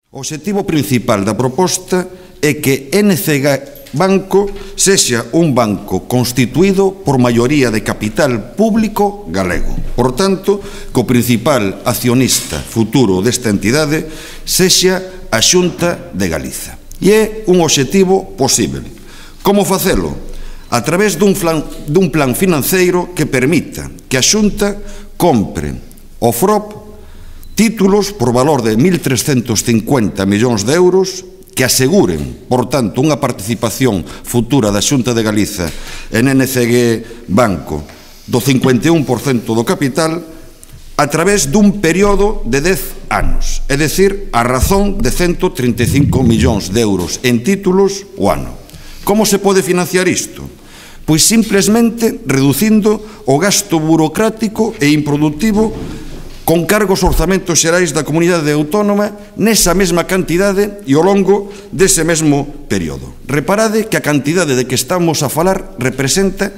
O obxectivo principal da proposta é que NCG Banco sexa un banco constituído por maioría de capital público galego. Por tanto, que o principal accionista futuro desta entidade sexa a Xunta de Galiza. E é un obxectivo posible. Como facelo? A través dun plan financeiro que permita que a Xunta compre o FROP títulos por valor de 1.350 millóns de euros que aseguren, por tanto, unha participación futura da Xunta de Galiza en NCG Banco do 51% do capital a través dun período de 10 anos, é dicir, a razón de 135 millóns de euros en títulos o ano. Como se pode financiar isto? Pois simplesmente reducindo o gasto burocrático e improductivo con cargos orzamentos xerais da comunidade autónoma nesa mesma cantidade e ao longo dese mesmo período. Reparade que a cantidade de que estamos a falar representa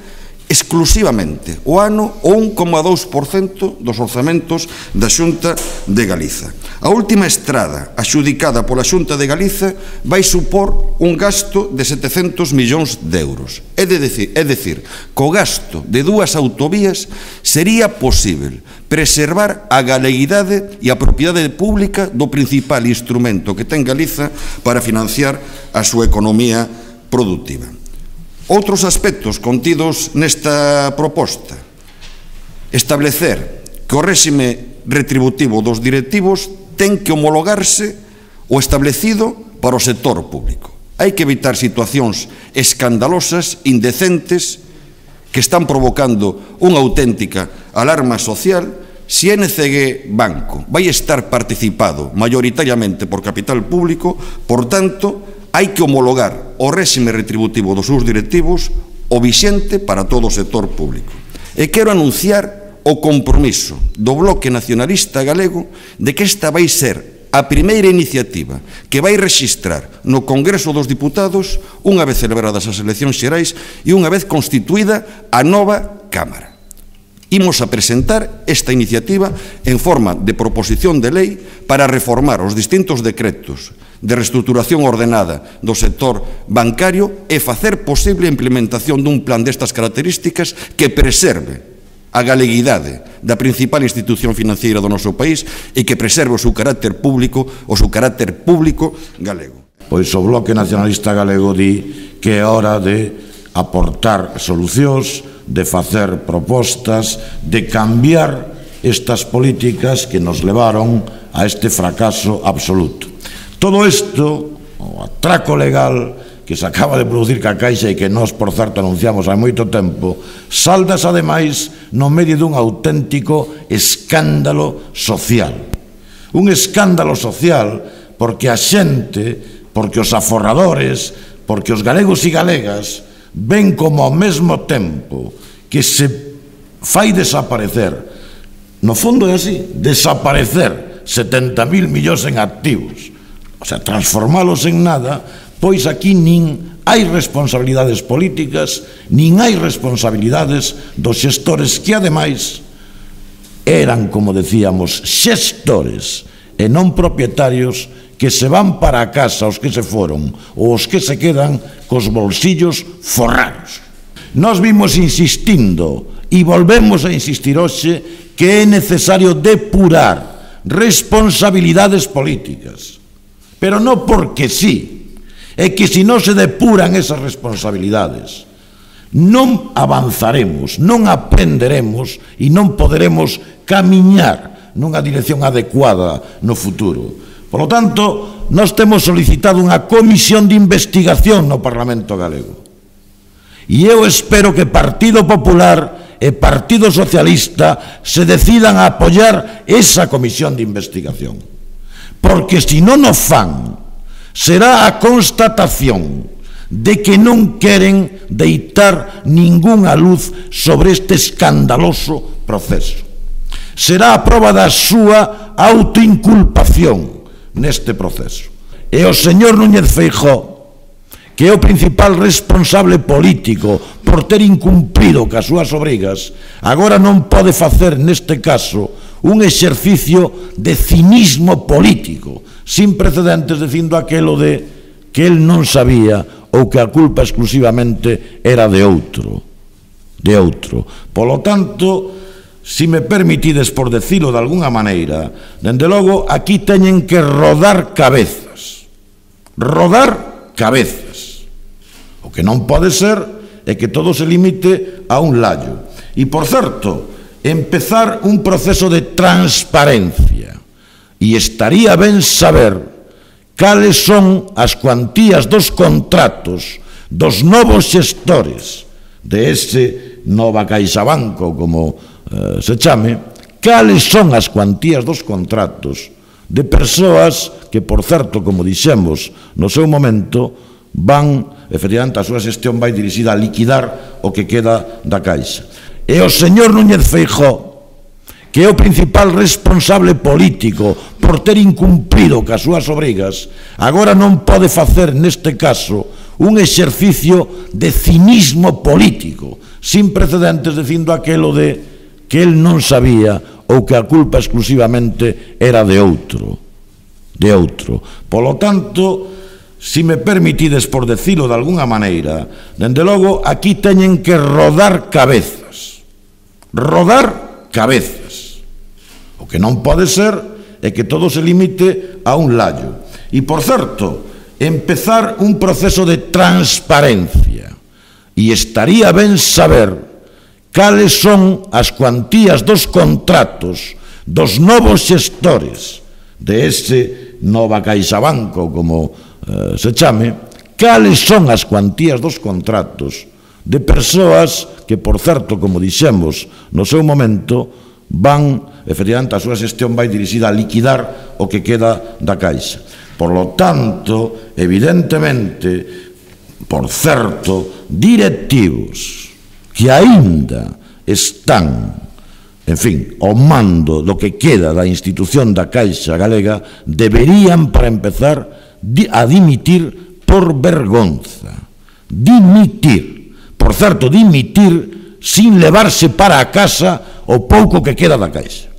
exclusivamente o ano o 1,2% dos orzamentos da Xunta de Galiza. A última estrada axudicada pola Xunta de Galiza vai supor un gasto de 700 millóns de euros. É dicir, co gasto de dúas autovías sería posible preservar a galeguidade e a propiedade pública do principal instrumento que ten Galiza para financiar a súa economía productiva. Outros aspectos contidos nesta proposta: establecer que o réxime retributivo dos directivos ten que homologarse o establecido para o sector público. Hai que evitar situacións escandalosas, indecentes, que están provocando unha auténtica alarma social. Se NCG Banco vai estar participado maioritariamente por capital público, por tanto, hai que homologar o réxime retributivo dos seus directivos o vixente para todo o sector público. E quero anunciar o compromiso do Bloque Nacionalista Galego de que esta vai ser a primeira iniciativa que vai rexistrar no Congreso dos Diputados unha vez celebradas as eleccións xerais e unha vez constituída a nova Cámara. Imos a presentar esta iniciativa en forma de proposición de lei para reformar os distintos decretos de reestruturación ordenada do sector bancario e facer posible a implementación dun plan destas características que preserve a galeguidade da principal institución financiera do noso país e que preserve o seu carácter público galego. Pois o Bloque Nacionalista Galego di que é hora de aportar solucións, de facer propostas, de cambiar estas políticas que nos levaron a este fracaso absoluto. Todo isto, o atraco legal que se acaba de producir ca Caixa e que nós, por certo, anunciamos hai moito tempo, saldas ademais no medio dun auténtico escándalo social. Un escándalo social porque a xente, porque os aforradores, porque os galegos e galegas ven como ao mesmo tempo que se fai desaparecer, no fondo é así, desaparecer 70.000 millóns en activos, o sea, transformalos en nada, pois aquí nin hai responsabilidades políticas, nin hai responsabilidades dos xestores que, ademais, eran, como decíamos, xestores e non propietarios que se van para a casa os que se foron ou os que se quedan cos bolsillos forrados. Nós vimos insistindo e volvemos a insistir hoxe que é necesario depurar responsabilidades políticas, pero non porque sí, é que se non se depuran esas responsabilidades non avanzaremos, non aprenderemos e non poderemos camiñar nunha dirección adecuada no futuro. Por lo tanto, nós temos solicitado unha comisión de investigación no Parlamento galego. E eu espero que Partido Popular e Partido Socialista se decidan a apoiar esa comisión de investigación. Porque se non o fan, será a constatación de que non queren deitar ningunha luz sobre este escandaloso proceso. Será a proba da súa autoinculpación neste proceso. E o señor Núñez Feijóo, que é o principal responsable político por ter incumprido cas súas obrigas, agora non pode facer neste caso un exercicio de cinismo político, sin precedentes, dicindo aquelo de que el non sabía ou que a culpa exclusivamente era de outro. Polo tanto, se me permitides por decilo de alguna maneira, dende logo, aquí teñen que rodar cabezas. O que non pode ser é que todo se limite a un lallo. E, por certo, empezar un proceso de transparencia. E estaría ben saber cales son as cuantías dos contratos dos novos xestores de ese Nova CaixaBanco, como se chame, cales son as cuantías dos contratos de persoas que, por certo, como dixemos no seu momento, van, efectivamente, a súa xestión vai dirixida a liquidar o que queda da Caixa. E o señor Núñez Feijóo, que é o principal responsable político por ter incumprido cas súas obrigas, agora non pode facer, neste caso, un exercicio de cinismo político, sin precedentes, dicindo aquelo de que el non sabía ou que a culpa exclusivamente era de outro. Polo tanto, se me permitides por decilo de alguna maneira, dende logo, aquí teñen que rodar cabezas. O que non pode ser é que todo se limite a un lallo. E, por certo, empezar un proceso de transparencia. E estaría ben saber cales son as cuantías dos contratos dos novos xestores de ese Nova CaixaBanco, como se chame, cales son as cuantías dos contratos de persoas que, por certo, como dixemos no seu momento, van, efectivamente, a súa xestión vai dirixida a liquidar o que queda da Caixa. Por lo tanto, evidentemente, por certo, directivos que aínda están, en fin, ao mando do que queda da institución da Caixa Galega, deberían, para empezar, a dimitir por vergonza. Por certo, dimitir sin levarse para a casa o pouco que queda da Caixa.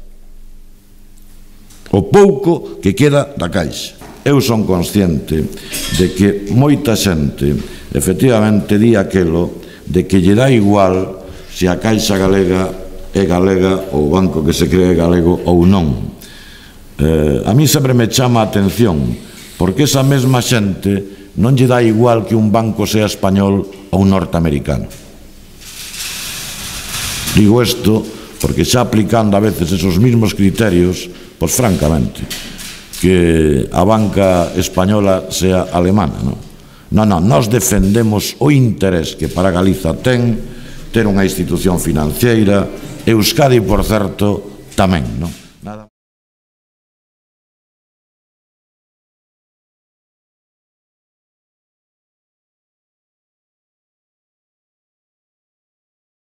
Eu son consciente de que moita xente efectivamente di aquelo de que lle dá igual se a Caixa Galega é galega ou o banco que se cree galego ou non. A mí sempre me chama a atención, porque esa mesma xente non lle dá igual que un banco sea español ou norteamericano. Digo isto porque xa aplicando a veces esos mismos criterios, pois francamente, que a banca española sea alemana, non? Non, nós defendemos o interés que para Galiza ten ter unha institución financiera, Euskadi, por certo, tamén, non?